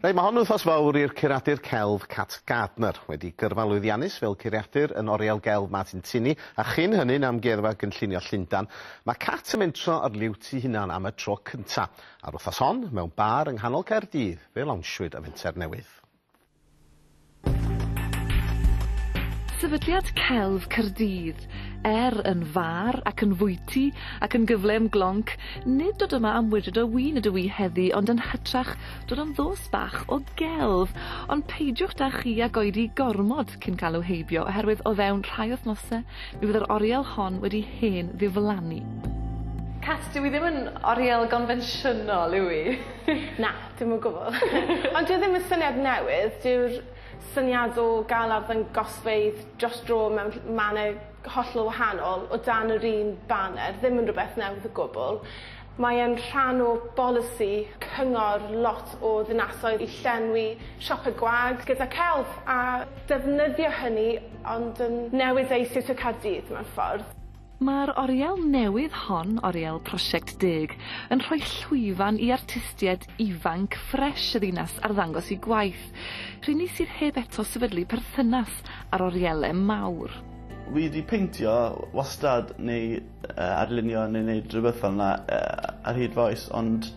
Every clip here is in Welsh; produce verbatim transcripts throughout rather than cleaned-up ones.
Reit, mae hon yn wythnos fawr i'r curadur celf Cat Gardner, wedi gyrfa lwyddiannus fel curadur yn Oriel Gelf Martin Tinney, a chyn hynny'n Amgueddfa Gynllunio Llundan. Mae Cat yn mentro ar liwt ei hunan am y tro cynta. A'r wythnos hon, mewn bar yng nghanol Caerdydd, fe lawnsiwyd y fenter newydd. Sefydliad Celf Caerdydd, er yn far ac yn fwyty ac yn gyfle am glonc, nid dod yma am wydred o win ydw i heddi, ond yn hytrach dod am ddos bach o gelf. Ond peidiwch da chi ag oedi gormod cyn cael i'w heibio, oherwydd o fewn rhai wythnosau mi fydd yr oriel hon wedi hen ddiflannu. Cat, dyw i ddim yn oriel gonfensiynol, yw i? Na, dim o gwbl. Ond dyw e ddim yn syniad newydd, dyw'r syniad o gael arddangosfeydd dros dro mewn mannau hollol wahanol o dan yr un baner ddim yn rhywbeth newydd o gwbl. Mae e'n rhan o bolisi cyngor lot o ddinasoedd i llenwi siopau gwag gyda celf a defnyddio hynny ond yn newid ei sut o Caerdydd mewn ffordd. Mae'r oriel newydd hon, Oriel Prosiect Deg, yn rhoi llwyfan i artistiaid ifanc ffres y ddinas arddangos eu gwaith. Rheini sydd heb eto sefydlu perthynas â'r orielau mawr. Wi wedi peintio wastad neu uh, arlunio neu wneud rhywbeth fel yna uh, ar hyd fy oes, ond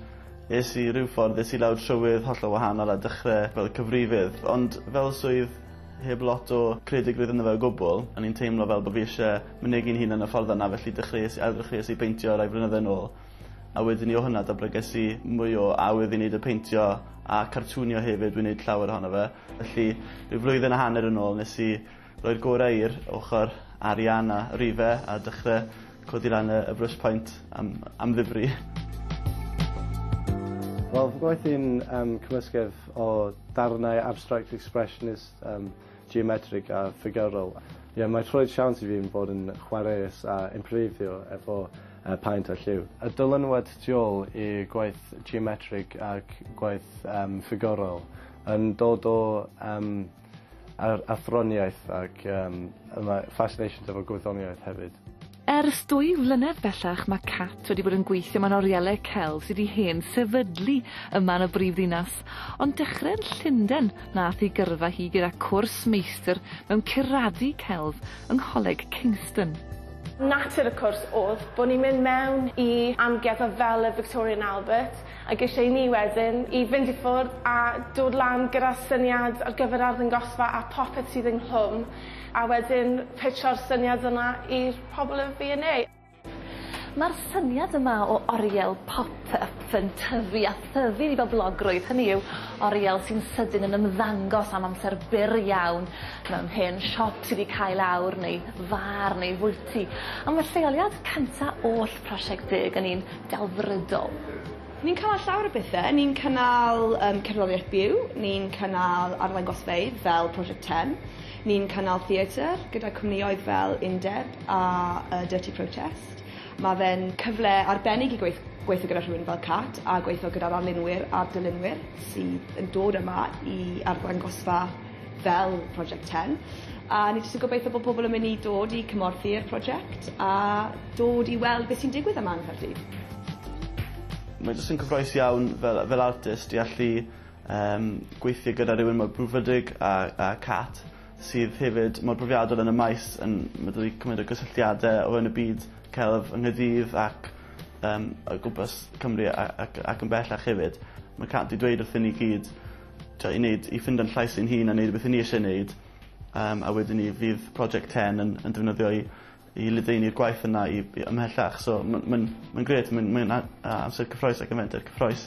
es i ryw ffordd, es i lawr trywydd hollol wahanol a dechrau fel cyfrifydd, ond fel swydd heb lot o creadigrwydd ynddo fe o gwbl, o'n i'n teimlo fel bod fi eisiau mynegi'n hun yn y ffordd yna, felly dechreuais, ailddechreuais i beintio rai flynyddoedd yn ôl. A wedyn i o hwnna datblyges i mwy o awydd i wneud y peintio a cartwnio hefyd, dwi'n wneud llawer ohono fe. Felly rhyw flwyddyn a hanner yn ôl nes i roi'r gorau i'r ochr arian a rife a dechrau codi lan y, y brush point am, am ddifri. Wel, fy gwaith i'n um, cymysgedd o darnau abstract expressionist, um, geometric a ffigurol. Ie, mae rhoi siawns i fi yn bod yn chwaraeus a improvisio efo uh, paent a lliw. Y dylanwad tu ôl i gwaith geometric ac gwaith um, ffigurol yn dod o um, ar athroniaeth ac um, fascination efo gwyddoniaeth hefyd. Ers dwy flynedd bellach mae Cat wedi bod yn gweithio mewn orielau celf sydd wedi hen sefydlu yma yn y brifddinas, ond dechrau yn Llundain nath ei gyrfa hi gyda cwrs meistr mewn curadu celf yng Ngholeg Kingston. Natur y cwrs oedd bod ni'n mynd mewn i amgueddfa fel y Victoria and Albert ac eisiau i ni wedyn i fynd i ffwrdd a dod lan gyda syniad ar gyfer arddangosfa a popeth sydd ynghlwm a wedyn pitcho'r syniad yna i'r pobl y V and A. Mae'r syniad yma o oriel pop-up yn tyfu a thyfu i boblogrwydd, hynny yw oriel sy'n sydyn yn ymddangos am amser byr iawn mewn hen siop sydd wedi cael awr neu far neu fwyty. A mae'r lleoliad cynta oll Prosiect Deg yn un delfrydol. Ni'n cynnal llawer o bethau. Ni'n cynnal um, cerddoriaeth byw, ni'n cynnal arddangosfeydd fel Project ten, ni'n cynnal theatr gyda cwmnïoedd fel Undeb a uh, Dirty Protest. Mae fe'n cyfle arbennig i gweith gweithio gyda rhywun fel Cat a gweithio gyda'r arlunwyr a'r dylunwyr sydd yn dod yma i arddangosfa fel Project ten. A ni jyst yn gobeithio bod pobl yn mynd i dod i cymorthu'r prosiect a dod i weld beth sy'n digwydd yma yng Nghaerdydd. Mae jyst yn cyffrous iawn fel, fel artist i allu um, gweithio gyda rhywun mor brwdfrydig a, a Cat, sydd hefyd mor brofiadol yn y maes, yn mae cymaint o gysylltiadau o fewn y byd celf yng Nghaerdydd ac um, o gwmpas Cymru ac, ac yn bellach hefyd. Mae Cat wedi dweud wrthyn ni gyd i, wneud, i ffindo'n llais ein hun a wneud beth ni eisiau wneud, um, a wedyn ni fydd Project ten yn, yn defnyddio i, i ledaenu'r gwaith yna i, i ymhellach. So mae'n ma, ma grêt, mae'n ma amser cyffrous ac yn fenter cyffrous.